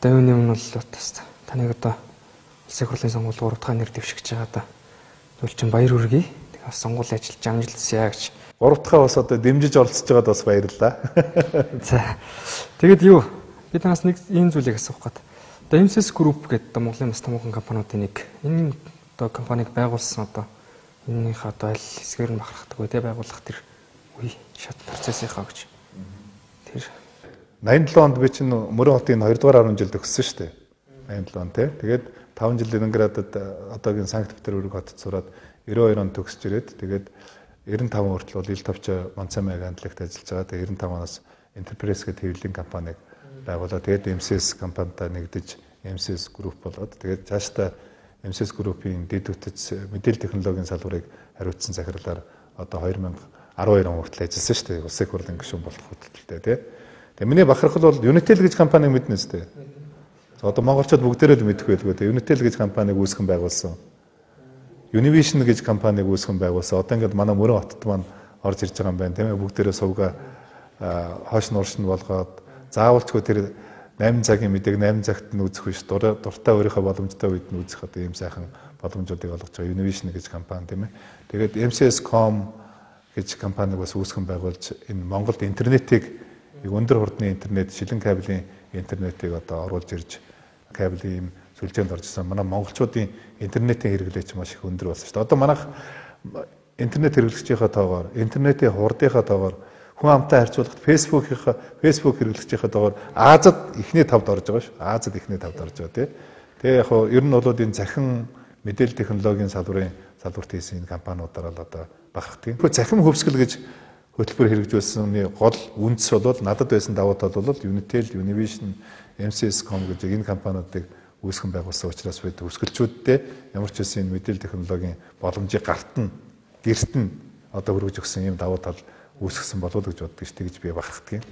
Одоо юуны өмнө бол бас таныг одоо улсын хурлын сонгуульд 3 дахь нэр дэвшигч байгаа да. Тэгвэл чинь баяр хүргэе. Тэгээ бас сонгуулийн ажилд амжилтсая гэж. 3 дахь бас одоо дэмжиж оролцож байгаад бас баярлалаа. За. Тэгэд юу? Би танаас нэг ийм зүйлийг асуух гээд. Одоо MCS Group гэдэг одоо Монголын бас томоохон компаниудын нэг. Энэ одоо компаниг байгуулсан одоо энэнийхээ одоо аль хэсгээр нь бахархдаг вэ? Тэ байгуулах тэр үе шат процессийнхаа гэж. Тэр 87 онд би чинь Мөрөн хотын 2 дугаар 10 жилд өгсөн шүү дээ. 87 он тий. Тэгээд 5 жил Ленинградад одоогийн Санкт-Петербург хотод сураад 92 онд төгсөж ирээд тэгээд 95 хүртэл бол ил товч Монцамайг хандлагт ажиллаж байгаа. Тэгээд 95 оноос Enterprise гэдэг хэвлэлийн компаниг байгуулаад тэгээд MCS компанитай нэгдэж MCS Group болоод тэгээд цаашдаа MCS Group-ийн дэд үтц мэдээлэл технологийн салбарыг хариуцсан захирлаар одоо 2012 он хүртэл ажилласан шүү дээ. Улсын хурлын гишүүн болох хүртэлтэй тий. Тэгээ миний бахархал бол Unitel гэж компаниг мэднэ шүү дээ. Одоо монголчууд бүгдээрээ л мэдэх байлгүй дээ. Unitel гэж компаниг үүсгэн байгуулсан. Univision гэж компаниг үүсгэн байгуулсан. Одоо ингээд манай Мөрөн хотод маань орж ирж байгаа юм байна тийм ээ. Бүгдээрээ сувга хоош нуурш нь болгоод заавалчгүй тэр 8 цагийн мэдээг 8 цагт нь үзэх биш. Дуртай өөрийнхөө боломжтой үед нь үзэх одоо ийм сайхан боломжуудыг олгож байгаа Univision гэж компани тийм ээ. Тэгээд MCS.com гэж компаниг бас үүсгэн байгуулж энэ Монголд интернетийг өндөр хурдны интернет, шилэн кабелийн интернетийг одоо оруулж ирж кабелийн сүлжээнд оржсэн. Манай монголчуудын интернетийн хэрэглээч маш их өндөр болсон шүү дээ. Одоо манайх интернет хэрэглэгчийнхаа тоогоор, интернетийн хурдынхаа тоогоор хүн амтай харьцуулахад Facebook хэрэглэгчийнхаа тоогоор Азад эхний тавд орж байгаа шүү. Азад эхний тавд орж байгаа тий. Тэгээ яг нь ер нь бол энэ захин мэдээлэл технологийн салбарт хийсэн энэ компаниудаар л одоо бахархдаг. Гэхдээ захин хөвсгөл гэж хөтөлбөр хэрэгжүүлсэний гол үндэс бол надад байсан давуу тал бол Unitel, Univision, MCS.com гэж энэ компаниудыг үүсгэн байгуулсан учраас бид өсгөлчүүдтэй ямар ч үсэн мэдээлэл технологийн боломжийг гэрт нь одоо хөргөж өгсөн юм давуу тал үүсгэсэн болов уу гэж боддог шүү дээ гэж би бахархдаг юм.